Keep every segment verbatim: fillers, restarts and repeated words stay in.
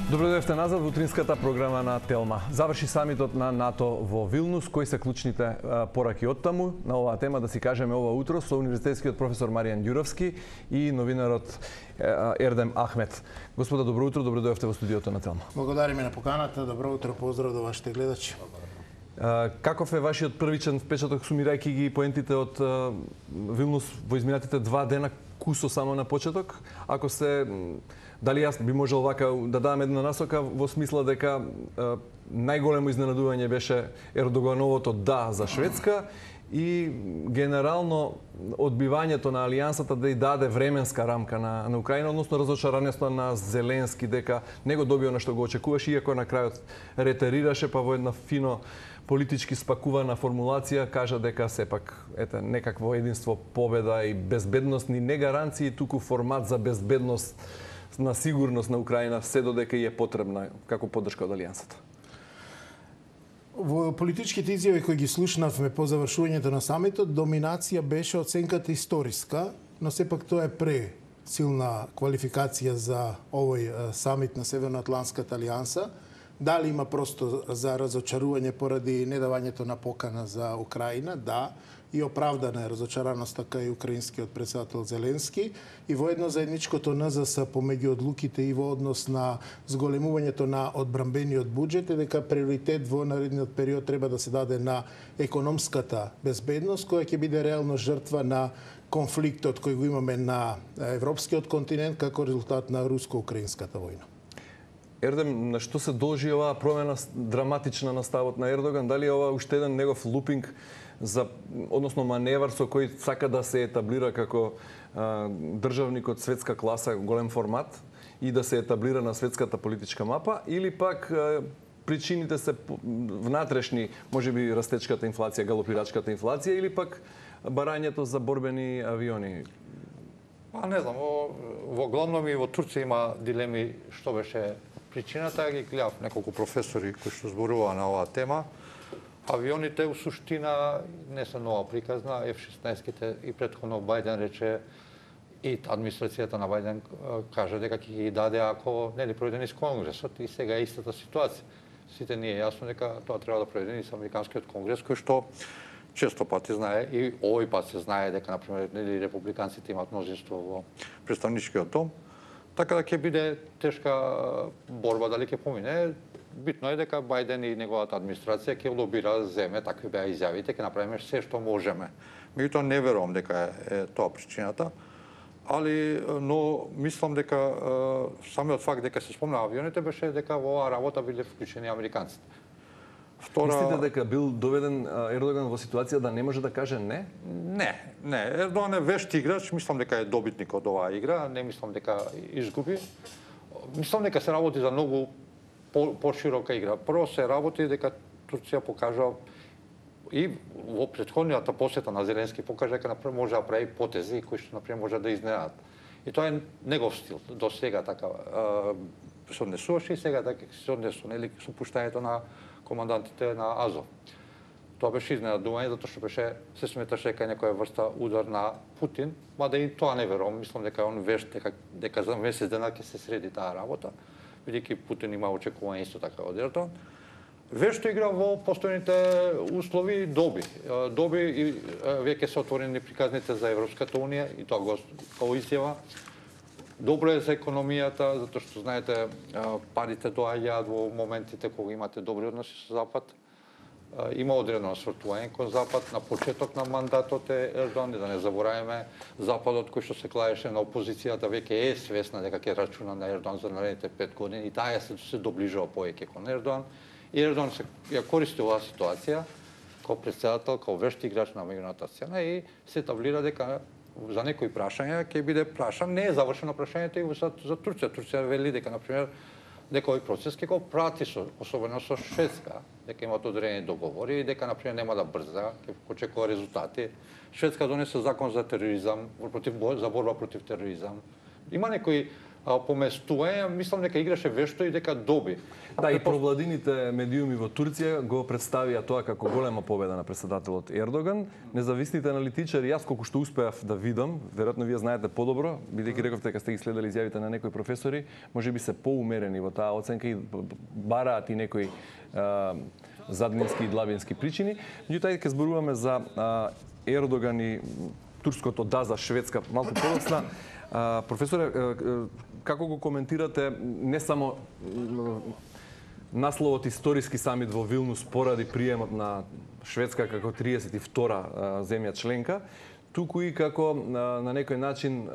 Добродојавте назад во утринската програма на Телма. Заврши самитот на НАТО во Вилнус. Кои се клучните пораки од таму? На оваа тема да си кажеме ова утро со универзитетскиот професор Маријан Ѓуровски и новинарот Ердем Ахмет. Господа, добро утро, добродојавте во студиото на Телма. Благодариме на поканата. Добро утро, поздрав до вашите гледачи. Каков е вашиот првичен впечаток, сумирајќи ги поентите од Вилнус во изминатите два дена, кусо само на почеток? Ако се Дали јас би можел вака да дадам една насока во смисла дека е, најголемо изненадување беше Ердогановото да за Шведска и генерално одбивањето на алијансата да и даде временска рамка на, на Украина, односно разочарањето на Зеленски дека не го добио на што го очекуваше, иако на крајот ретерираше, па во една фино политички спакувана формулација кажа дека сепак ете некакво единство, победа и безбедност ни не гаранции, туку формат за безбедност на сигурност на Украина се додека и е потребна како поддршка од алијансата. Во политичките изјави кои ги слушнавме по завршувањето на самитот, доминација беше оценката историска, но сепак тоа е пресилна квалификација за овој самит на Северноатлантската алијанса. Дали има просто за разочарување поради недавањето на покана за Украина? Да. И оправдана е разочараноста кај украинскиот претседател Зеленски и во едно заедничкото ен зес ес помеѓу одлуките и во однос на зголемувањето на одбранбениот буџет е дека приоритет во наредниот период треба да се даде на економската безбедност, која ќе биде реално жртва на конфликтот кој го имаме на европскиот континент како резултат на руско-украинската војна. Ердем, на што се должи оваа промена драматична на ставот на Ердоган? Дали е ова уште еден негов лупинг за, односно маневар со кој сака да се етаблира како а, државник од светска класа, голем формат и да се етаблира на светската политичка мапа, или пак а, причините се внатрешни, можеби растечката инфлација, галопирачката инфлација, или пак барањето за борбени авиони? Па не знам, во, во главном и во Турција има дилеми што беше причината. Ги гледав неколку професори кои што зборуваа на оваа тема. Авионите у суштина не се нова приказна, еф шеснаесет и претходно Бајден рече и администрацијата на Бајден кажа дека ќе ги даде ако нели проведени из Конгресот и сега е истата ситуација. Сите ни е јасно дека тоа треба да проведени со Американскиот конгрес, кој што често пати знае и овој пат се знае дека на пример нели републиканците имаат мнозинство во претставничкиот дом. Така да ќе биде тешка борба дали ќе помине. Битно е дека Бајден и неговата администрација ќе лобира земе, такви беа изјавите, ќе направиме се што можеме. Меѓутоа не верувам дека е, е тоа причината, али но мислам дека е, самиот факт дека се спомна авионите беше дека во оваа работа биле вклучени американците. Втора... Мислите дека бил доведен Ердоган во ситуација да не може да каже не? Не, не. Ердоган е вешт играч, мислам дека е добитник од оваа игра, не мислам дека изгуби. Мислам дека се работи за многу поширока игра. Прво се работи дека Турција покажа и во претходниот посета на Зеленски покажа дека например може да прави потези кои што например може да изненадат. И тоа е негов стил. До сега така се однесуваше и сега така се однесува, нели, со пуштањето на командантите на Азов. Тоа беше изненадување затоа што беше се сметаше дека е некоја врста удар на Путин, мада и тоа не верувам. Мислам дека он вешт дека дека за месец дена ќе се среди таа работа. Бидејќи Путин има очекување исто така од Ердоган. Вешто игра во постојните услови доби. Доби и веќе се отворени приказните за Европската унија и тоа го како изјава. Добро е за економијата, затоа што знаете парите доаѓаат во моментите кога имате добри односи со Запад. Има одредено освртување кон Запад на почеток на мандатот е Ердоган, да не забораваме Западот кој што се клаеше на опозицијата веќе е свесна дека ќе рачуна на Ердоган за наредните пет години и таа се се доближува повеќе кон Ердоган. И Ердоган се ја користи оваа ситуација како претседател, како вешт играч на меѓународната сцена и се етаблира дека за некои прашања ќе биде прашан, не е завршено прашањето и за, за Турција. Турција вели дека на пример дека овој процес ќе го прати со, особено со Шведска, дека имаат одредени договори и дека на пример нема да брза, ќе очекува резултати. Шведска донесе закон за тероризам, против за борба против тероризам. Има некои поместување, мислам дека играше вешто и дека доби. Да, и провладините медиуми во Турција го представија тоа како голема победа на претседателот Ердоган. Независните аналитичари, јас колку што успеав да видам, веројатно вие знаете подобро, бидејќи рековте дека сте ги следели изјавите на некои професори, можеби се поумерени во таа оценка и бараат и некои а, заднински и длабински причини. Меѓутоа, ќе зборуваме за а, Ердоган и турското да за Шведска малку подоцна. Професоре, како го коментирате не само насловот историски самит во Вилнус поради приемот на Шведска како триесет и втора земја членка, туку и како на некој начин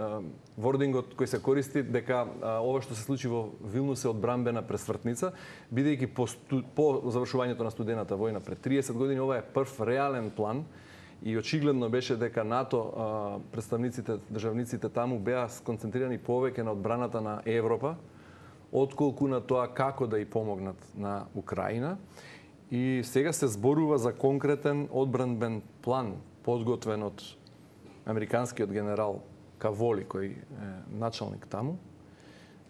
вордингот кој се користи дека ова што се случи во Вилнус е одбранбена пресвртница, бидејќи по, по завршувањето на студената војна пред триесет години ова е прв реален план. И очигледно беше дека НАТО, представниците, државниците таму беа сконцентрирани повеќе на одбраната на Европа, отколку на тоа како да ја помогнат на Украина. И сега се зборува за конкретен одбранбен план, подготвен од американскиот генерал Каволи, кој е началник таму,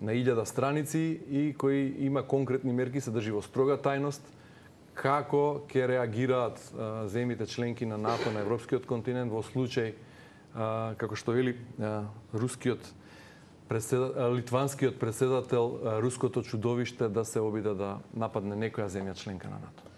на илјада страници и кој има конкретни мерки, се држи во строга тајност, како ќе реагираат а, земјите членки на НАТО на европскиот континент во случај, а, како што вели а, рускиот преседател, литванскиот преседател, а, руското чудовиште да се обиде да нападне некоја земја членка на НАТО.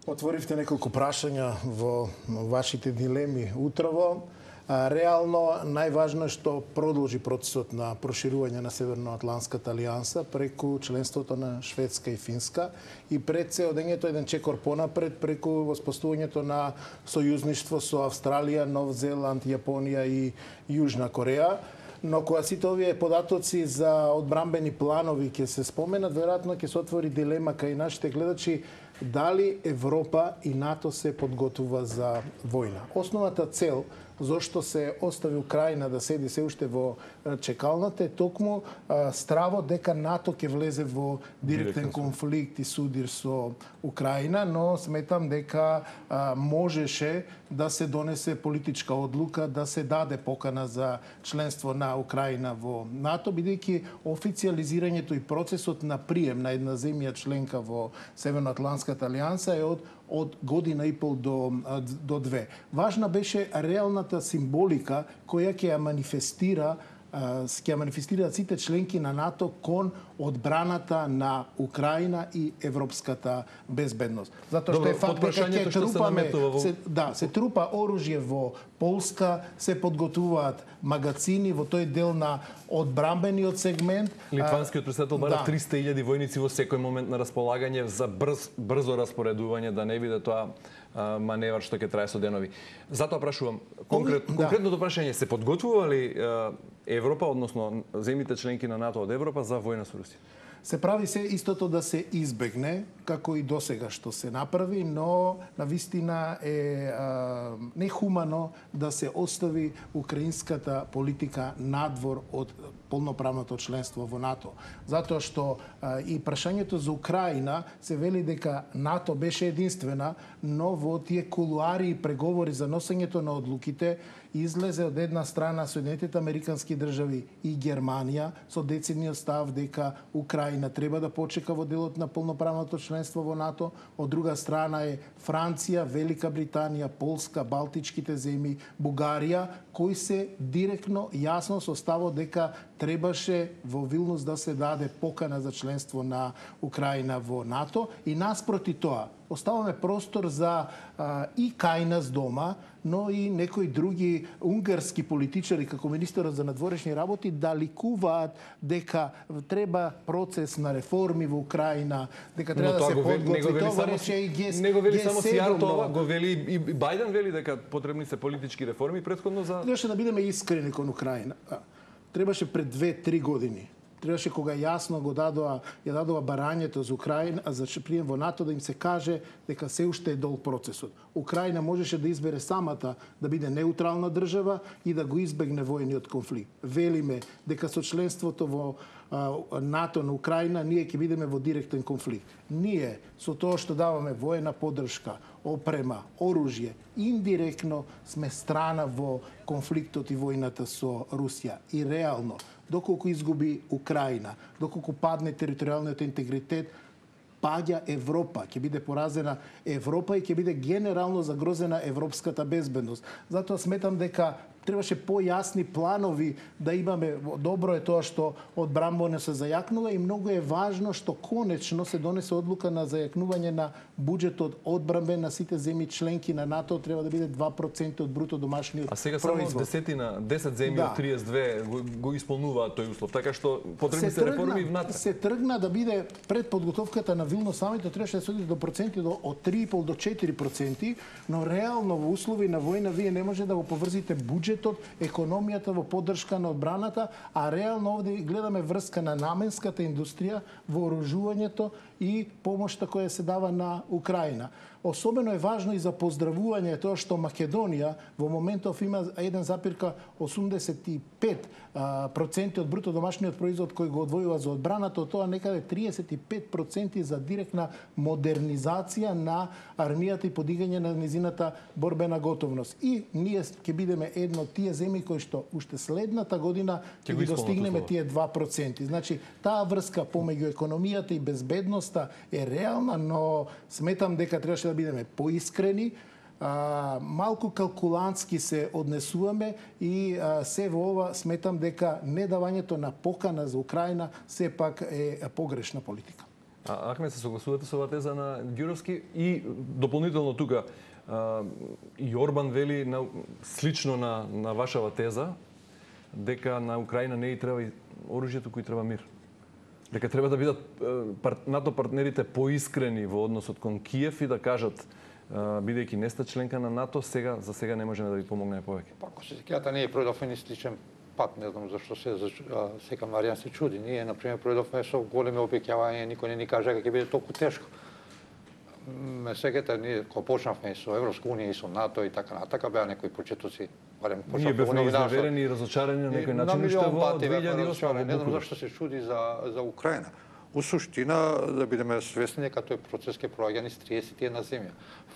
Отворивте неколку прашања во вашите дилеми утрово. Реално, најважно е што продолжи процесот на проширување на Северноатлантската алијанса преку членството на Шведска и Финска и пред се одењето еден чекор понапред преку воспоставувањето на сојузништво со Австралија, Нов Зеланд, Јапонија и Јужна Кореја. Но кога сите овие податоци за одбранбени планови ќе се споменат, веројатно ќе се отвори дилема кај нашите гледачи дали Европа и НАТО се подготвува за војна. Основната цел зошто се остави Украина да седи се уште во чекалната е токму стравот дека НАТО ќе влезе во директен конфликт и судир со Украина, но сметам дека а, можеше да се донесе политичка одлука да се даде покана за членство на Украина во НАТО, бидејќи официализирањето и процесот на прием на една земја членка во Северноатлантската алијанса е од од година и пол до, до две. Важна беше реалната символика која ќе ја манифестира ќе манифестираат сите членки на НАТО кон одбраната на Украина и европската безбедност. Затоа што е факт дека ќе трупаме во... се, да, се трупа оружје во Полска, се подготвуваат магацини во тој дел на одбранбениот сегмент. Литванскиот председател бара да. триста илјади војници во секој момент на располагање за брз, брзо распоредување, да не биде тоа маневар што ќе трае со денови. Затоа прашувам, конкрет, да. конкретното прашање, се подготвува ли Европа, односно земјите членки на НАТО од Европа за војна со Русија? Се прави се истото да се избегне, како и досега што се направи, но навистина е а, нехумано да се остави украинската политика надвор од полноправното членство во НАТО. Затоа што а, и прашањето за Украина се вели дека НАТО беше единствена, но во тие кулуари и преговори за носењето на одлуките излезе од една страна Соединетите Американски држави и Германија со децидниот став дека Украина треба да почека во делот на полноправното членство во НАТО, од друга страна е Франција, Велика Британија, Полска, Балтичките земји, Бугарија, кои се директно јасно со ставот дека требаше во Вилнус да се даде покана за членство на Украина во НАТО и наспроти тоа оставаме простор за а, и кај нас дома, но и некои други унгарски политичари како министерот за надворешни работи да ликуваат дека треба процес на реформи во Украина, дека треба да се подготви. Това рече и ГЕС. Не го вели само Сијар тоа, го вели и Бајден вели дека потребни се политички реформи претходно за... Требаше да бидеме искрени кон Украина. Требаше пред две-три години. Требаше кога јасно го дадоа, ја дадоа барањето за Украина, за прием во НАТО, да им се каже дека се уште е долг процесот. Украина можеше да избере самата да биде неутрална држава и да го избегне војниот конфликт. Велиме дека со членството во НАТО на Украина ние ќе бидеме во директен конфликт. Ние со тоа што даваме воена поддршка, опрема, оружје, индиректно сме страна во конфликтот и војната со Русија. И реално доколку изгуби Украина, доколку падне територијалниот интегритет, паѓа Европа, ќе биде поразена Европа и ќе биде генерално загрозена европската безбедност. Затоа сметам дека требаше појасни планови да имаме. Добро е тоа што одбранбено се зајакнува и многу е важно што конечно се донесе одлука на зајакнување на буџетот одбранбен на сите земји членки на НАТО, треба да биде два проценти од бруто домашниот А сега производ. само десетина, десет земји Да. од триесет и две го, го исполнуваат тој услов, така што потребни се реформи внатре. Се тргна да биде пред подготовката на Вилнус самитот, требаше да се оди до проценти до од три и пол до четири проценти, но реално во услови на војна вие не може да го поврзите буџетот, економијата во поддршка на одбраната, а реално овде гледаме врска на наменската индустрија, вооружувањето и помошта која се дава на Украина. Особено е важно и за поздравување тоа што Македонија во моментов има еден запирка осумдесет и пет проценти од бруто домашниот производ кој го одвојува за одбраната, од тоа некаде триесет и пет проценти за директна модернизација на армијата и подигање на низината борбена готовност. И ние ќе бидеме едно од тие земји кои што уште следната година ќе ги достигнеме тие два проценти. Значи, таа врска помеѓу економијата и безбедноста е реална, но сметам дека требаше да бидеме поискрени, а, малку калкулантски се однесуваме и а, се во ова сметам дека недавањето на покана за Украина сепак е погрешна политика. А, Ахмед, се согласувате со оваа теза на Ѓуровски и дополнително тука а, и Орбан вели на, слично на, на вашава теза дека на Украина не и треба оружјето кој треба мир. Дека треба да бидат НАТО партнерите поискрени во односот кон Киев и да кажат, бидејќи не сте членка на НАТО, сега за сега не можеме да ви помогнеме повеќе. Па, ако се сеќавате, ние пројдовме сличен пат, не знам зашто се сека Маријан се чуди. Ние на пример пројдовме со големи обеќавања, никој не ни кажа дека ќе биде толку тешко. Ме сеќате, ние кога почнавме со Европска унија и со НАТО и така натака, беа некои почетоци, барем Ние бевме изневерени и разочарани на некој начин, уште во две илјади и осма. Не знам зашто се чуди за за Украина. У суштина, да бидеме свесни дека тој процес ќе проаѓа низ триесет и една земја.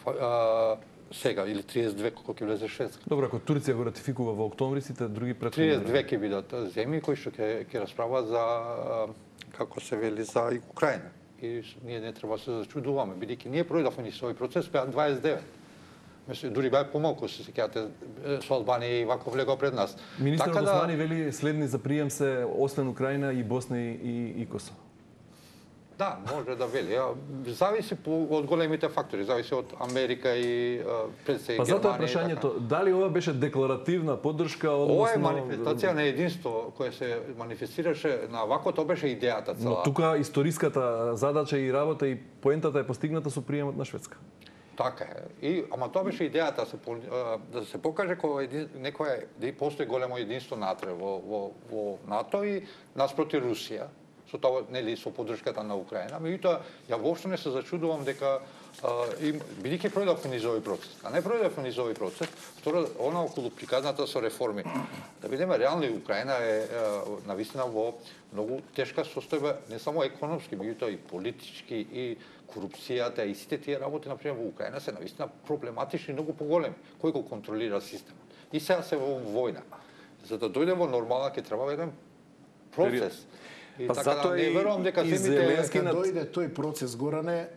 А, сега, или триесет и две, кога ќе влезе Шведска. Добро, ако Турција го ратификува во октомври, сите други претходни... триесет и две ќе бидат земји кои што ќе ќе расправаат за, како се вели, за Украина. И ние не треба да се зачудуваме, бидејќи ние пројдовме низ овој процес, беа дваесет и девет. Мислам, дури беа помалку, се сеќавате, со Албанија и вако влегоа пред нас. Министерот така Османи да... вели следни за прием се освен Украина и Босна и, и Косово. Да, може да вели. Зависи од големите фактори, зависи од Америка и председник Германија. Па затоа прашањето, така. дали ова беше декларативна поддршка, односно... Ова е манифестација на единство која се манифестираше на вако, тоа беше идејата цела. Но тука историската задача и работа и поентата е постигната со приемот на Шведска. Така е. И ама тоа беше идејата се да се покаже кога некоја да постои големо единство натре во во во НАТО и наспроти Русија. Со тоа, нели, со поддршката на Украина. Меѓутоа, ја воопшто не се зачудувам дека бидејќи пројдовме низ овој процес, а не пројдовме низ овој процес, второ, она околу приказната со реформи. Да бидеме реални, Украина е навистина во многу тешка состојба, не само економски, меѓутоа и политички, и корупцијата, и сите тие работи, например, во Украина се навистина проблематични, многу поголеми. Кој го контролира системот? И сега се во војна. За да дојде во нормална, ќе треба еден процес. И па така да не верувам дека земите кога дојде тој процес, Горане,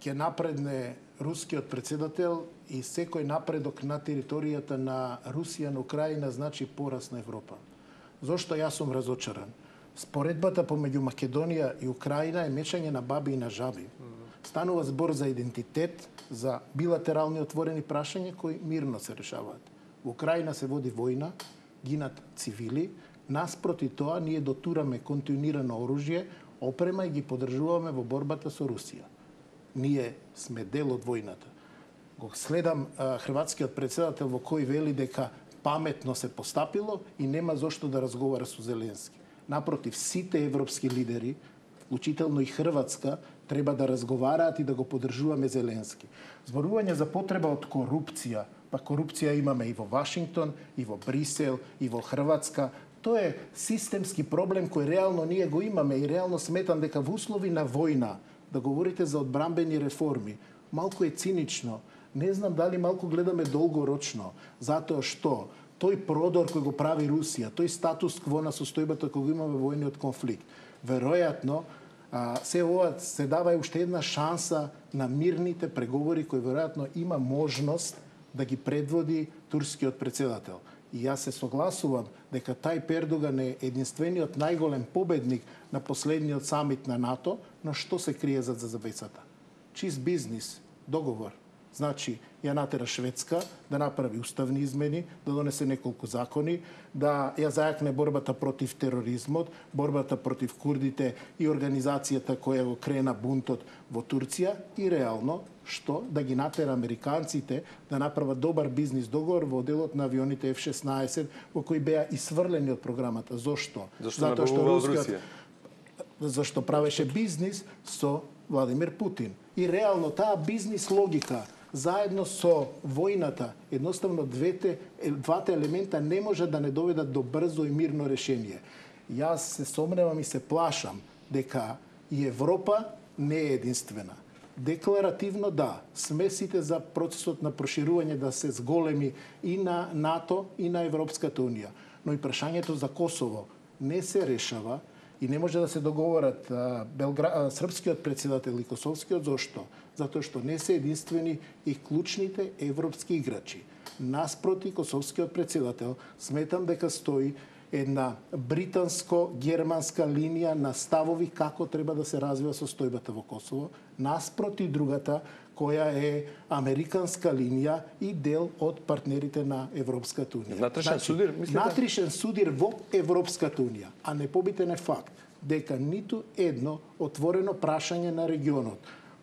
ќе напредне рускиот председател и секој напредок на територијата на Русија на Украина значи порас на Европа. Зошто јас сум разочаран? Споредбата помеѓу Македонија и Украина е мешање на баби и на жаби. Станува збор за идентитет, за билатерални отворени прашања кои мирно се решаваат. Во Украина се води војна, гинат цивили. Наспроти тоа, ние дотураме континуирано оружје, опрема и ги поддржуваме во борбата со Русија. Ние сме дел од војната. Го следам а, хрватскиот председател во кој вели дека паметно се постапило и нема зошто да разговара со Зеленски. Напротив, сите европски лидери, вклучително и Хрватска, треба да разговараат и да го поддржуваме Зеленски. Зборување за потреба од корупција, па корупција имаме и во Вашингтон, и во Брисел, и во Хрватска. Тоа е системски проблем кој реално ние го имаме и реално сметам дека во услови на војна да говорите за одбранбени реформи, малку е цинично. Не знам дали малку гледаме долгорочно, затоа што тој продор кој го прави Русија, тој статус кво на состојбата кој го имаме во војниот конфликт, веројатно а, се ова се дава и уште една шанса на мирните преговори кои веројатно има можност да ги предводи турскиот претседател. И јас се согласувам дека Тајип Ердоган е единствениот најголем победник на последниот самит на НАТО, но што се крие зад завесата? Чист бизнис, договор. Значи, ја натера Шведска да направи уставни измени, да донесе неколку закони, да ја зајакне борбата против тероризмот, борбата против курдите и организацијата која го крена бунтот во Турција и реално што да ги натера американците да направат добар бизнис договор во делот на авионите Еф шеснаесет во кои беа исфрлени од програмата. Зошто? Зашто Затоа што рускиот зашто правеше бизнис со Владимир Путин. И реално таа бизнис логика заедно со војната, едноставно двете, двата елемента не може да не доведат до брзо и мирно решение. Јас се сомневам и се плашам дека и Европа не е единствена. Декларативно да, сме сите за процесот на проширување да се зголеми и на НАТО и на Европската унија. Но и прашањето за Косово не се решава и не може да се договорат Белгра... српскиот претседател и косовскиот. Зошто? Затоа што не се единствени и клучните европски играчи. Наспроти косовскиот претседател сметам дека стои една британско-германска линија на ставови како треба да се развива состојбата во Косово, наспроти другата која е американска линија и дел од партнерите на Европската унија. Натришен судир, мислите? Натришен судир во Европската унија, а непобитен е факт дека ниту едно отворено прашање на регионот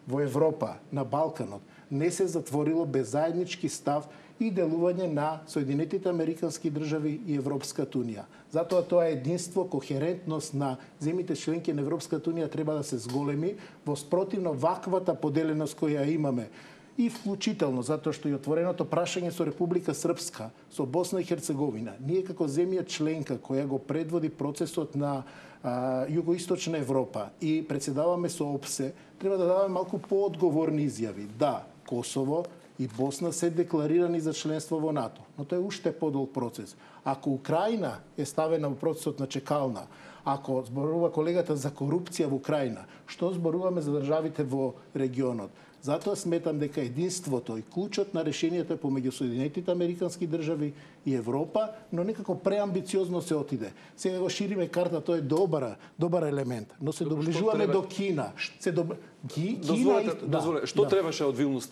во Европа, на Балканот, не се затворило без заеднички став и делување на Соединетите Американски држави и Европската унија. Затоа тоа единство, кохерентност на земјите членки на Европската унија треба да се зголеми, во спротивно ваквата поделеност која имаме и вклучително затоа што и отвореното прашање со Република Српска, со Босна и Херцеговина, ние како земја членка која го предводи процесот на а, Југоисточна Европа и председаваме со ОПСЕ, треба да даваме малку поодговорни изјави. Да, Косово и Босна се декларирани за членство во НАТО, но тоа е уште подолг процес. Ако Украина е ставена во процесот на чекална, ако зборува колегата за корупција во Украина, што зборуваме за државите во регионот? Затоа сметам дека единството и клучот на решението е помеѓу Соединетите Американски држави и Европа, но некако преамбициозно се отиде. Сега го шириме карта, тоа е добар, добар елемент, но се доближуваме треба... до Кина. Се доб... Ки... Дозволете, Кина... дозволете. Да, што да. требаше од Вилнус?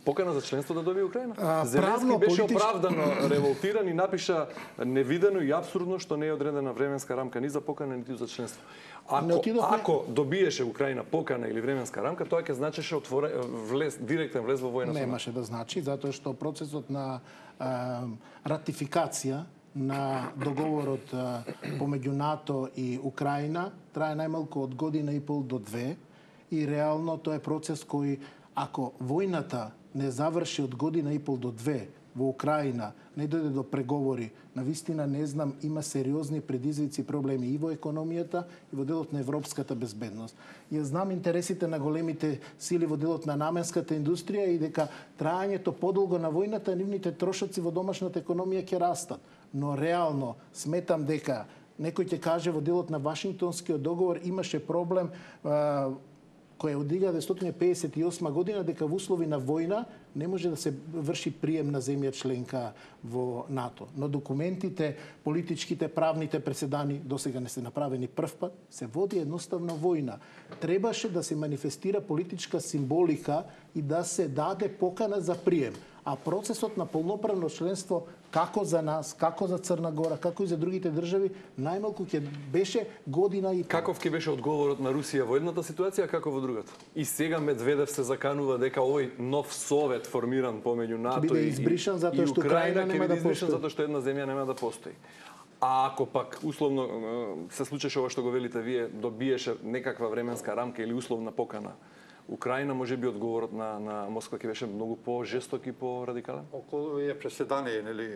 Покана за членство да добие Украина? А, Зеленски беше политич... оправдано револтиран и напиша невидено и апсурдно што не е одредена временска рамка ни за покана, ниту за членство. Ако, отидохме... ако добиеше Украина покана или временска рамка, тоа ќе значеше отворе, влез, директен влез во војна. Немаше да значи, затоа што процесот на а, ратификација на договорот а, помеѓу НАТО и Украина трае најмалку од година и пол до две и реално тоа е процес кој, ако војната не заврши од година и пол до две во Украина, не дојде до преговори, навистина не знам, има сериозни предизвици и проблеми и во економијата и во делот на европската безбедност. Ја знам интересите на големите сили во делот на наменската индустрија и дека траењето подолго на војната, нивните трошоци во домашната економија ќе растат. Но реално сметам дека некој ќе каже во делот на Вашингтонскиот договор имаше проблем а, која од илјада деветстотини педесет и осма година дека во услови на војна не може да се врши прием на земја членка во НАТО. Но документите, политичките, правните преседани досега не се направени прв пат, се води едноставно војна. Требаше да се манифестира политичка символика и да се даде покана за прием. А процесот на полноправно членство како за нас, како за Црна Гора, како и за другите држави, најмалку ќе беше година и пол. Каков ќе беше одговорот на Русија во едната ситуација, како во другата? И сега Медведев се заканува дека овој нов совет формиран помеѓу НАТО и, избришан затоа и што Украина Украина ќе нема биде да избришан постои. затоа што една земја нема да постои. А ако пак условно се случеше ова што го велите вие, добиеше некаква временска рамка или условна покана, Украина може би одговорот на на Москва ќе беше многу по-жесток и по-радикален? Околу е преседание, нели,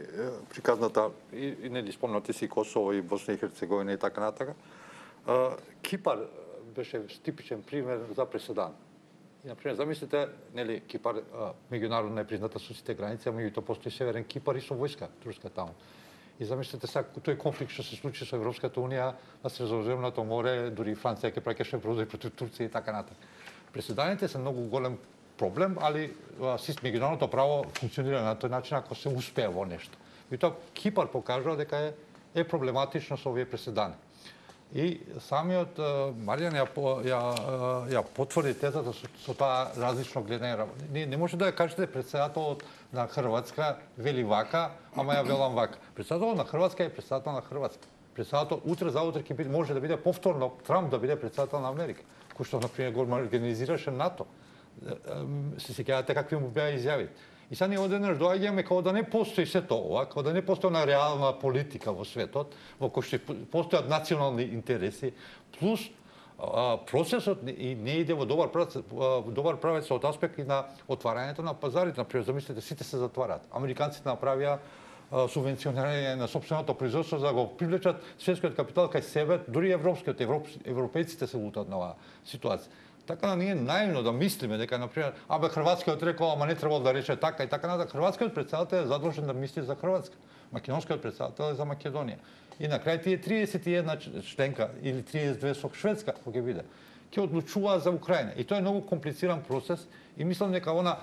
приказната и, и нели спомнати си Косово и Босна и Херцеговина и така натака. Кипар беше типичен пример за преседан. И, например, замислите, нели, Кипар меѓународно е призната со сите граници, а меѓутоа постои Северен Кипар и со војска турска таму. И замислете сега тој конфликт што се случи со Европската унија на Средоземното море, дури Франција ќе праќаше бродови против Турција и така натаму. Преседаните се многу голем проблем, али меѓународното право функционира на тој начин ако се успее во нешто. И тоа Кипар покажува дека е, е проблематично со овие преседани. И самиот Маријан ја, ја, ја потврди тезата со, со тоа различно гледање. Не, не може да ја кажете председателот на Хрватска вели вака, ама ја велам вака. Председателот на Хрватска е председател на Хрватска. Председател утре заутре ќе биде, може да биде повторно Трамп да биде председател на Америка, кој што на пример го организираше НАТО. Се сеќавате какви му беа изјавите. И сега ние одеднаш доаѓаме како да не постои сето ова, како да не постои на реална политика во светот, во кој што постојат национални интереси, плюс а, процесот и не иде во добар правец, добар правец од аспект и на отварањето на пазарите. Например, замислете, сите се затвараат. Американците направија субвенционирање на сопственото производство за да го привлечат светскиот капитал кај себе, дури европскиот, европ, европејците се лутат на оваа ситуација. Така да ние наивно да мислиме дека, например, абе хрватскиот рекол, ама не требало да рече така и така натаму. Хрватскиот председател е задолжен да мисли за Хрватска. Македонскиот председател е за Македонија. И на крај тие триесет и една членка или триесет и две со Шведска, кој ќе биде, ќе одлучуваат за Украина. И тоа е многу комплициран процес и мислам дека она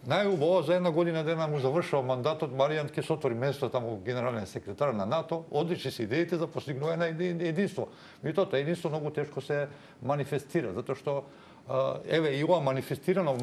најубаво за една година дена му завршува мандатот, Маријан ќе се отвори место таму генерален секретар на НАТО, одлични се идеите за постигнување на единство. Меѓутоа, тоа единство многу тешко се манифестира, затоа што еве и ова манифестирано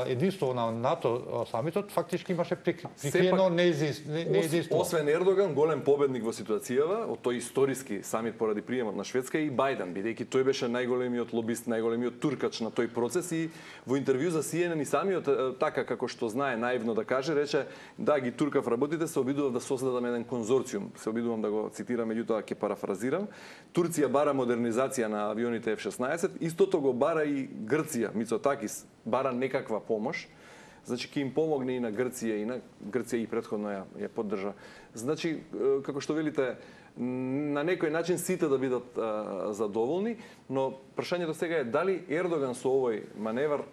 единство на НАТО самитот фактички имаше прикриено неединство. Освен Ердоган, голем победник во ситуацијава, од тој историски самит поради приемот на Шведска и Бајден, бидејќи тој беше најголемиот лобист, најголемиот туркач на тој процес и во интервју за Си Ен Ен и самиот така како што знае наивно да каже, рече да ги туркав работите, се обидував да создадам еден конзорциум. Се обидувам да го цитирам, меѓутоа ќе парафразирам. Турција бара модернизација на авионите Еф шеснаесет, истото го бара и Грција, Мицотакис, бара некаква помош, значи ќе им помогне и на Грција, и на Грција и претходно ја, ја поддржа. Значи, како што велите, на некој начин сите да бидат а, задоволни, но прашањето сега е дали Ердоган со овој маневар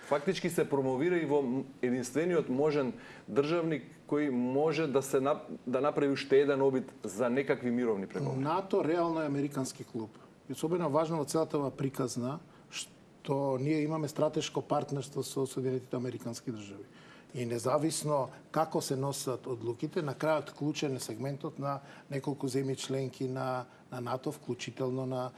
фактички се промовира и во единствениот можен државник кој може да се да направи уште еден обид за некакви мировни преговори. НАТО реално е американски клуб. И особено важно во целата ова приказна што ние имаме стратешко партнерство со Соединетите американски држави. И независно како се носат одлуките, на крајот клучен е сегментот на неколку земји членки на, на НАТО, вклучително на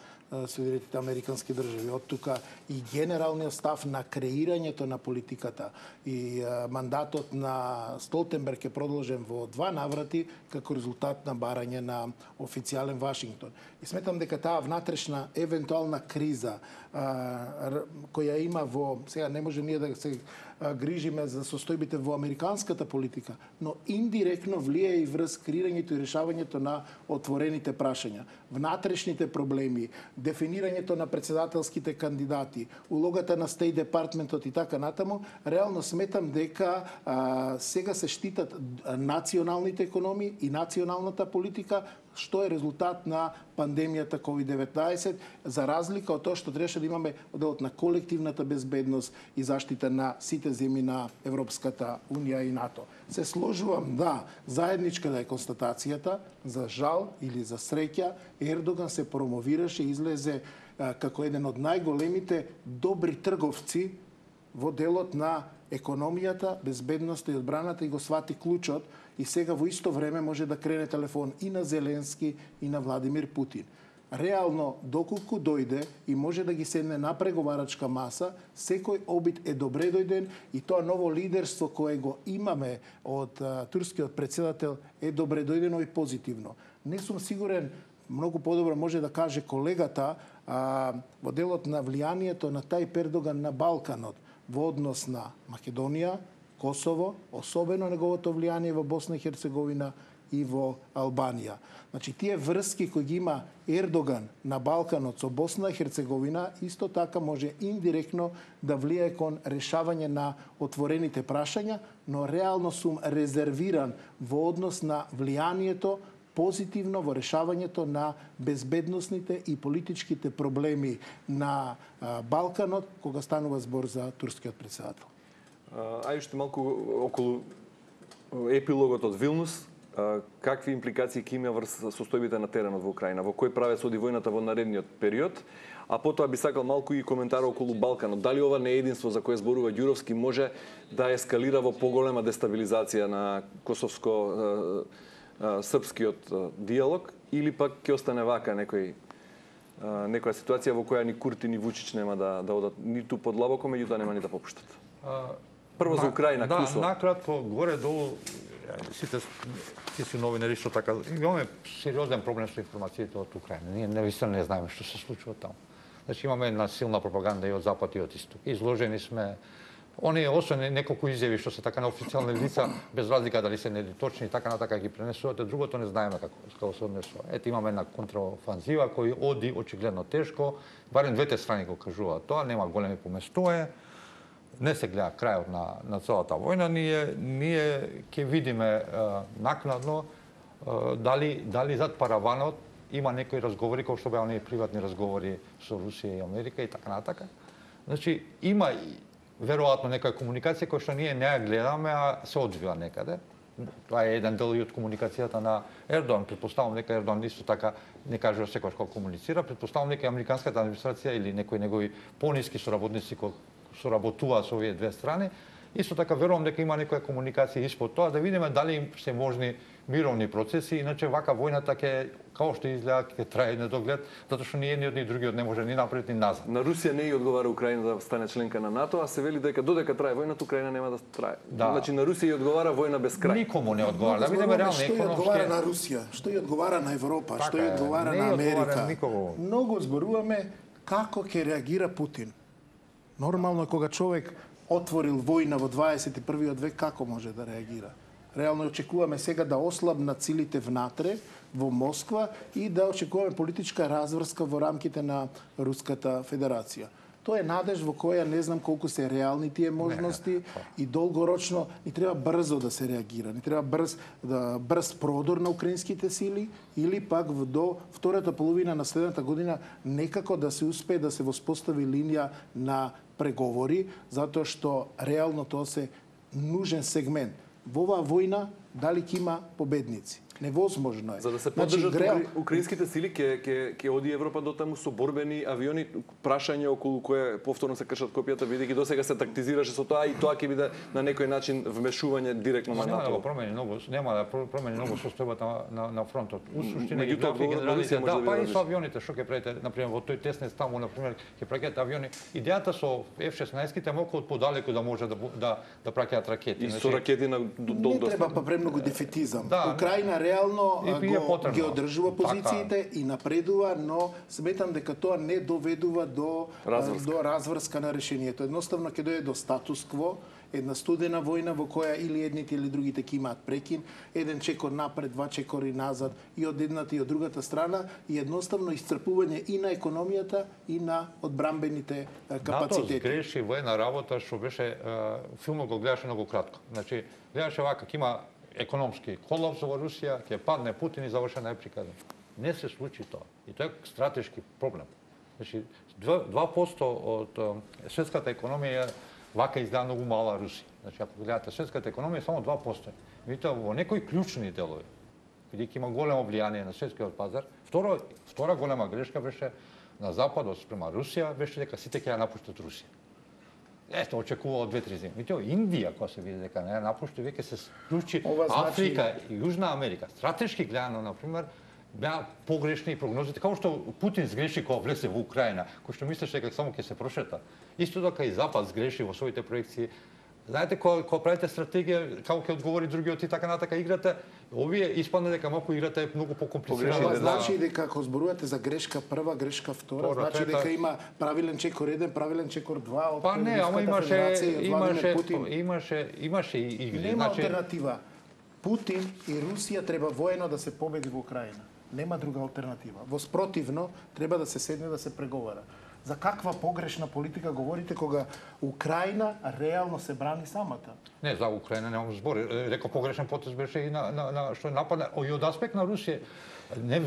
Соединетите американски држави. Од тука и генералниот став на креирањето на политиката и а, мандатот на Столтенберг е продолжен во два наврати како резултат на барање на официјален Вашингтон. И сметам дека таа внатрешна евентуална криза а, која има во, сега не може ние да се грижиме за состојбите во американската политика, но индиректно влие и врз креирањето и решавањето на отворените прашања, внатрешните проблеми, дефинирањето на председателските кандидати, улогата на Стейт департментот и така натаму, реално сметам дека а, сега се штитат националните економии и националната политика, што е резултат на пандемијата ковид деветнаесет, за разлика од тоа што требаше да имаме делот на колективната безбедност и заштита на сите земји на Европската унија и НАТО. Се сложувам да заедничка да е констатацијата, за жал или за среќа, Ердоган се промовираше и излезе а, како еден од најголемите добри трговци во делот на економијата, безбедноста и одбраната и го свати клучот и сега во исто време може да крене телефон и на Зеленски и на Владимир Путин. Реално, доколку дојде и може да ги седне на преговарачка маса, секој обид е добре дојден и тоа ново лидерство кое го имаме од а, турскиот председател е добре дојдено и позитивно. Не сум сигурен, многу подобро може да каже колегата, а, во делот на влијанието на Тајип Ердоган на Балканот во однос на Македонија, Косово, особено неговото влијание во Босна и Херцеговина и во Албанија. Значи, тие врски кои ги има Ердоган на Балканот со Босна и Херцеговина, исто така може индиректно да влијае кон решавање на отворените прашања, но реално сум резервиран во однос на влијанието позитивно во решавањето на безбедносните и политичките проблеми на Балканот, кога станува збор за турскиот претседател. Ај уште малку околу епилогот од Вилнус. Какви импликации ќе има врз состојбите на теренот во Украина? Во кој правец оди војната во наредниот период? А потоа би сакал малку и коментар околу Балканот. Дали ова неединство за кое зборува Ѓуровски може да ескалира во поголема дестабилизација на косовско-српскиот диалог или пак ќе остане вака некој некоја ситуација во која ни Курти ни Вучич нема да да одат ниту подлабоко, меѓутоа нема ни да попуштат? Прво за Украина, да, Кусо. Да, накратко, горе-долу, сите си новинари што така, имаме сериозен проблем со информациите од Украина. Ние навистина не знаеме што се случува таму. Значи имаме една силна пропаганда и од запад и од исток. Изложени сме Они, освен неколку изјави што се така на официјални лица, без разлика дали се неточни и така натака ги пренесуваат, другото не знаеме како, како се однесува. Ете, имаме една контраофанзива кој оди очигледно тешко, барем двете страни го кажуваат тоа, нема големи поместување, не се гледа крајот на, на целата војна, ние, ние ќе видиме а, накнадно а, дали, дали зад параванот има некои разговори, кои што беа оние приватни разговори со Русија и Америка и така натака. Значи, има веројатно некоја комуникација која што ние не ја гледаме, а се одвива некаде. Тоа е еден дел и од комуникацијата на Ердоан. Предпоставам дека Ердоан исто така не кажува секојаш кога комуницира. Предпоставам дека американската администрација или некои негови пониски соработници кои соработуваат со овие две страни, исто така верувам дека има некоја комуникација испод тоа, да видиме дали се можни мировни процеси, иначе вака војната ќе, како што изгледа, ќе трае недоглед, затоа што ни едниот ни другиот не може ни напред ни назад. На Русија не ја одговара Украина да стане членка на НАТО, а се вели дека додека трае војната, Украина нема да трае. Да. Значи на Русија ја одговара војна без крај. Никому не одговара. Да видиме реално економски. Што ја одговара на Русија, што ја одговара на Европа, така што ја одговара на Америка. Многу зборуваме како ќе реагира Путин. Нормално е кога човек отворил војна во дваесет и првиот век, како може да реагира? Реално очекуваме сега да ослабнат силите внатре во Москва и да очекуваме политичка разврска во рамките на Руската Федерација. Тоа е надеж во која не знам колку се реални тие можности и долгорочно ни треба брзо да се реагира. Ни треба брз да брз продор на украинските сили или пак до втората половина на следната година некако да се успее да се воспостави линија на преговори, затоа што реално тоа се нужен сегмент. Во оваа војна дали ќе има победници? Невозможно е. За да се поддржат значи, греал... украинските сили, ќе ќе ќе оди Европа до таму со борбени авиони, прашање околу кое повторно се кршат копијата, бидејќи досега се тактизираше со тоа и тоа ќе биде на некој начин вмешување директно на НАТО. Нема да промени многу, нема да промени многу состојбата на, на, на фронтот. У суштина ги главни генералите, да, па и со авионите, што ќе правите, например, во тој тесен таму, например, ќе праќаат авиони. Идејата со Еф шеснаесет молку од подалеку да може да да да праќаат ракети. И со ракети на до Не треба па премногу дефетизам. Да, Украина реално го, ги одржува позициите така. И напредува, но сметам дека тоа не доведува до разврска, до разврска на решението. Едноставно ќе дојде до статус-кво, една студена војна во која или едните или другите ќе имаат прекин, еден чекор напред, два чекори назад и од едната и од другата страна и едноставно исцрпување и на економијата и на одбрамбените капацитети. НАТО греши воена работа што беше филмот го гледаше многу кратко. Значи гледаше вака ќе има економски колапс во Русија, ќе падне Путин и завршена еприка. Не се случи тоа. И тоа е стратешки проблем. Значи два проценти од светската економија вака изгледа многу мала Русија. Значи ако гледате светската економија само два проценти. Видите во некои клучни делови, бидејќи има големо влијание на светскиот пазар, второ втора голема грешка беше на западот спрема Русија, беше дека сите ќе ја напуштат Русија. Ето, очекува од две-три земи. Видите, Индија, кога се види дека не ја напушти, веќе се склучи Африка и Јужна Америка. Стратешки гледано, например, беа погрешни прогнозите, како што Путин сгреши кога влезе во Украина, кој што мислеше дека само ќе се прошета. Исто така и Запад сгреши во своите проекции. Знаете, кога, кога правите стратегија, како ќе одговори другиот и така натака играте, овие испадна дека малку играта е многу покомплицирана. Това значи дека ако зборувате за грешка прва, грешка втора, Втора, значи дека има правилен чекор еден, правилен чекор два од Па не, ама имаше имаше имаше имаше и игри. Нема значи... алтернатива. Путин и Русија треба воено да се победи во Украина. Нема друга алтернатива. Во спротивно треба да се седне да се преговара. За каква погрешна политика говорите кога Украина реално се брани самата? Не, за Украина немам збори. Реков погрешен потез беше и на, на, на што нападна и од аспект на Русија. Не,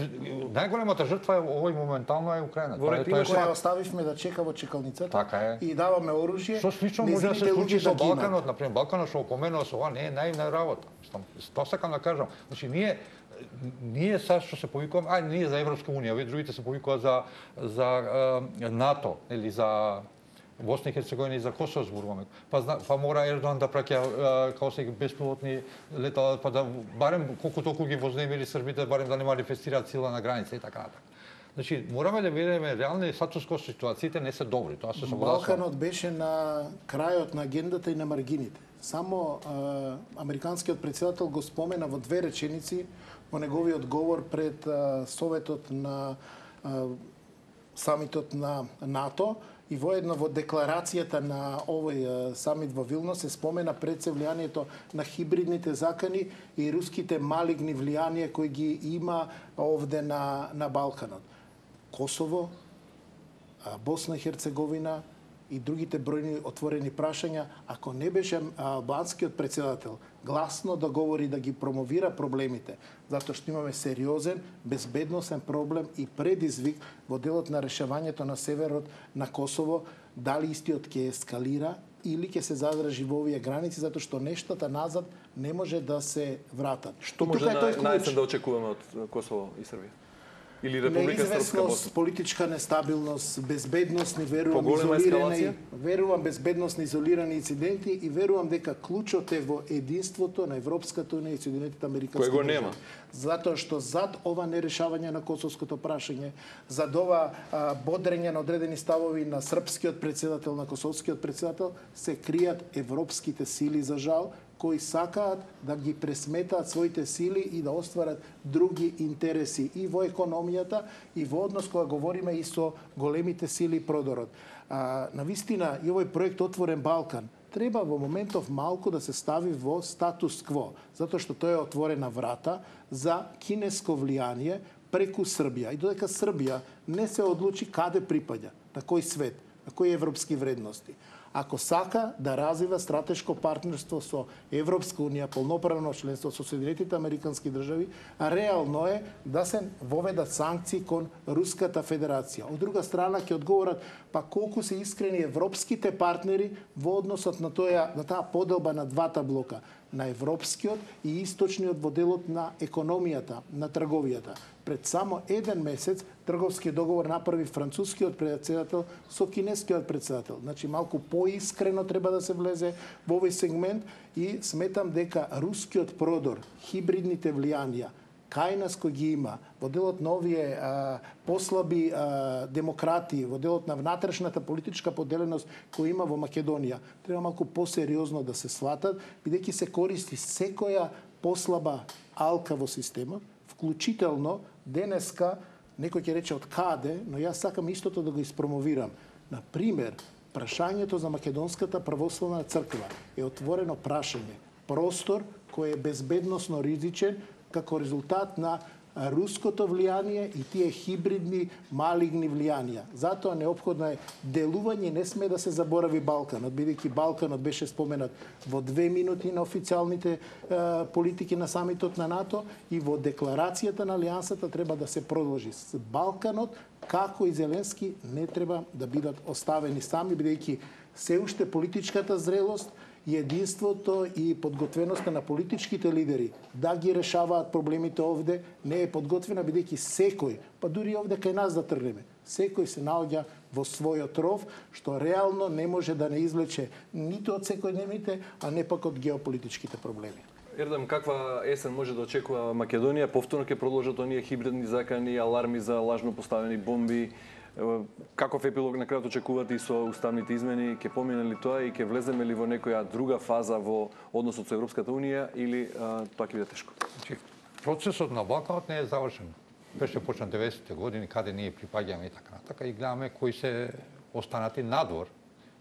најголемата жртва е овој моментално е Украина. Во ретина која оставивме да чека во чекалницата така е. И даваме оружје. Што слично може да се случи со Балканот, например, Балканот што опоменува со ова не е наивна работа. Тоа сакам да кажам. Значи ние ние са што се повикуваме, а ние за Европска унија, овие другите се повикуваат за за е, НАТО или за Босна и Херцеговина и за Косово зборуваме. Па, па мора Ердоган да праќа као се беспилотни летала, па да барем колку толку ги вознемири србите, барем да не манифестираат сила на граница и така натаму. Значи, мораме да видиме реални статус-ко ситуациите не се добри, тоа се согласувам. Балканот беше на крајот на агендата и на маргините. Само а, американскиот председател го спомена во две реченици во неговиот говор пред а, Советот на а, самитот на НАТО и воедно во декларацијата на овој а, самит во Вилнус се спомена пред се влијанието на хибридните закани и руските малигни влијанија кои ги има овде на, на Балканот. Косово, а, Босна и Херцеговина и другите бројни отворени прашања, ако не беше албанскиот председател гласно да говори, да ги промовира проблемите, затоа што имаме сериозен, безбедносен проблем и предизвик во делот на решавањето на северот на Косово, дали истиот ќе ескалира или ќе се задржи во овие граници, затоа што нештата назад не може да се вратат. Што може на, најсен да очекуваме од Косово и Србија? Или Република Српска Босна? Политичка нестабилност, безбедносни, верувам, изолирани, верувам безбедносни изолирани инциденти и верувам дека клучот е во единството на Европската унија и Соединетите американски држави. Кој го нема? Затоа што зад ова нерешавање на косовското прашање, зад ова а, бодрење на одредени ставови на српскиот председател, на косовскиот председател, се кријат европските сили, за жал, кои сакаат да ги пресметаат своите сили и да остварат други интереси и во економијата и во однос кога говориме и со големите сили продорот. А, навистина и овој проект Отворен Балкан треба во моментов малку да се стави во статус кво, затоа што тоа е отворена врата за кинеско влијание преку Србија. И додека Србија не се одлучи каде припаѓа, на кој свет, на кои европски вредности, ако сака да развива стратешко партнерство со Европска унија, полноправно членство со Соединетите американски држави, а реално е да се воведат санкции кон Руската федерација. Од друга страна ќе одговорат па колку се искрени европските партнери во односот на тоја на таа поделба на двата блока, на европскиот и источниот во делот на економијата, на трговијата. Пред само еден месец трговски договор направи францускиот председател со кинескиот председател. Значи малку поискрено треба да се влезе во овој сегмент и сметам дека рускиот продор, хибридните влијанија, кај нас кој ги има, во делот на овие а, послаби а, демократи, во делот на внатрешната политичка поделеност која има во Македонија, треба малку посериозно да се сватат, бидејќи се користи секоја послаба алка во системот, вклучително денеска, некој ќе рече од каде, но јас сакам истото да го испромовирам. Например, прашањето за Македонската православна црква е отворено прашање, простор кој е безбедносно ризичен како резултат на руското влијание и тие хибридни малигни влијанија. Затоа неопходно е делување, не сме да се заборави Балканот, бидејќи Балканот беше споменат во две минути на официјалните е, политики на самитот на НАТО и во декларацијата на Алијансата треба да се продолжи. Балканот, како и Зеленски, не треба да бидат оставени сами, бидејќи се уште политичката зрелост и единството и подготвеноста на политичките лидери да ги решаваат проблемите овде не е подготвена, бидејќи секој, па дури овде кај нас да тргнеме, секој се наоѓа во својот ров, што реално не може да не извлече ниту од секојдневните, а не пак од геополитичките проблеми. Ердем, каква есен може да очекува Македонија? Повторно ќе продолжат оние хибридни закани, аларми за лажно поставени бомби. Каков епилог на крајот очекувате и со уставните измени? Ќе помине ли тоа и ќе влеземе ли во некоја друга фаза во односот со Европската унија или а, тоа ќе биде тешко? Процесот на Балканот не е завршен. Беше почнат деветдесетте години, каде ние припаѓаме и така натака, и гледаме кои се останати надвор.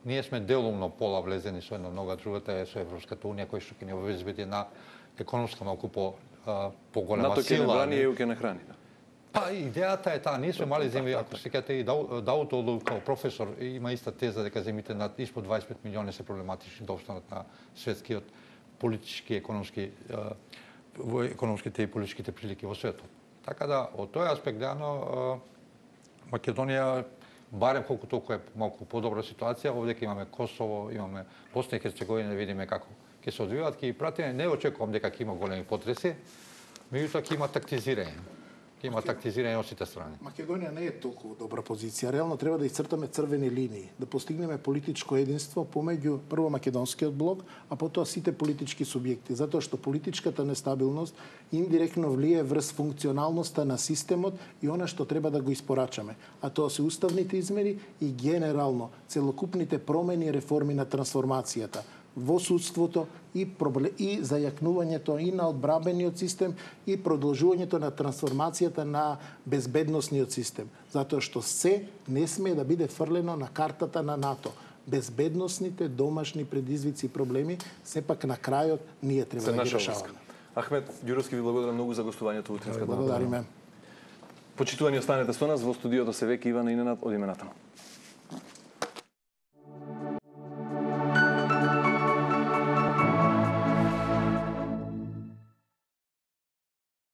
Ние сме делумно пола влезени со една нога, другата е со Европската унија, кој што ќе ни обезбеди една економска малку по поголема сила. НАТО ќе не брани, ЕУ ќе не храни. Па идејата е таа, ние сме мали земји, ако се сеќате и Даутолу како професор има иста теза дека земите над испод дваесет и пет милиони се проблематични да останат на светскиот политички, економски во економските и политичките прилики во светот. Така да, од тој аспект гледано Македонија барем колку толку е малку подобра ситуација, овде ќе имаме Косово, имаме Босна и Херцеговина, да видиме како ќе се одвиваат, ќе ги пратиме, не очекувам дека ќе има големи потреси, меѓутоа ќе има тактизирање. Ќе има тактизирање од сите страни. Македонија не е толку добра позиција. Реално треба да исцртаме црвени линии, да постигнеме политичко единство помеѓу прво македонскиот блок, а потоа сите политички субјекти, затоа што политичката нестабилност индиректно влие врз функционалноста на системот и она што треба да го испорачаме. А тоа се уставните измени и генерално целокупните промени и реформи на трансформацијата во судството и, проблем, и зајакнувањето и на одбранбениот систем и продолжувањето на трансформацијата на безбедносниот систем. Затоа што се не смее да биде фрлено на картата на НАТО. Безбедносните домашни предизвици и проблеми сепак на крајот ние треба се да ги решаваме. Ахмет Ѓуровски, ви благодарам многу за гостувањето во Утринската. Благодариме. Почитувани, останете со нас, во студиото се веќе Ивана Иненад од имената.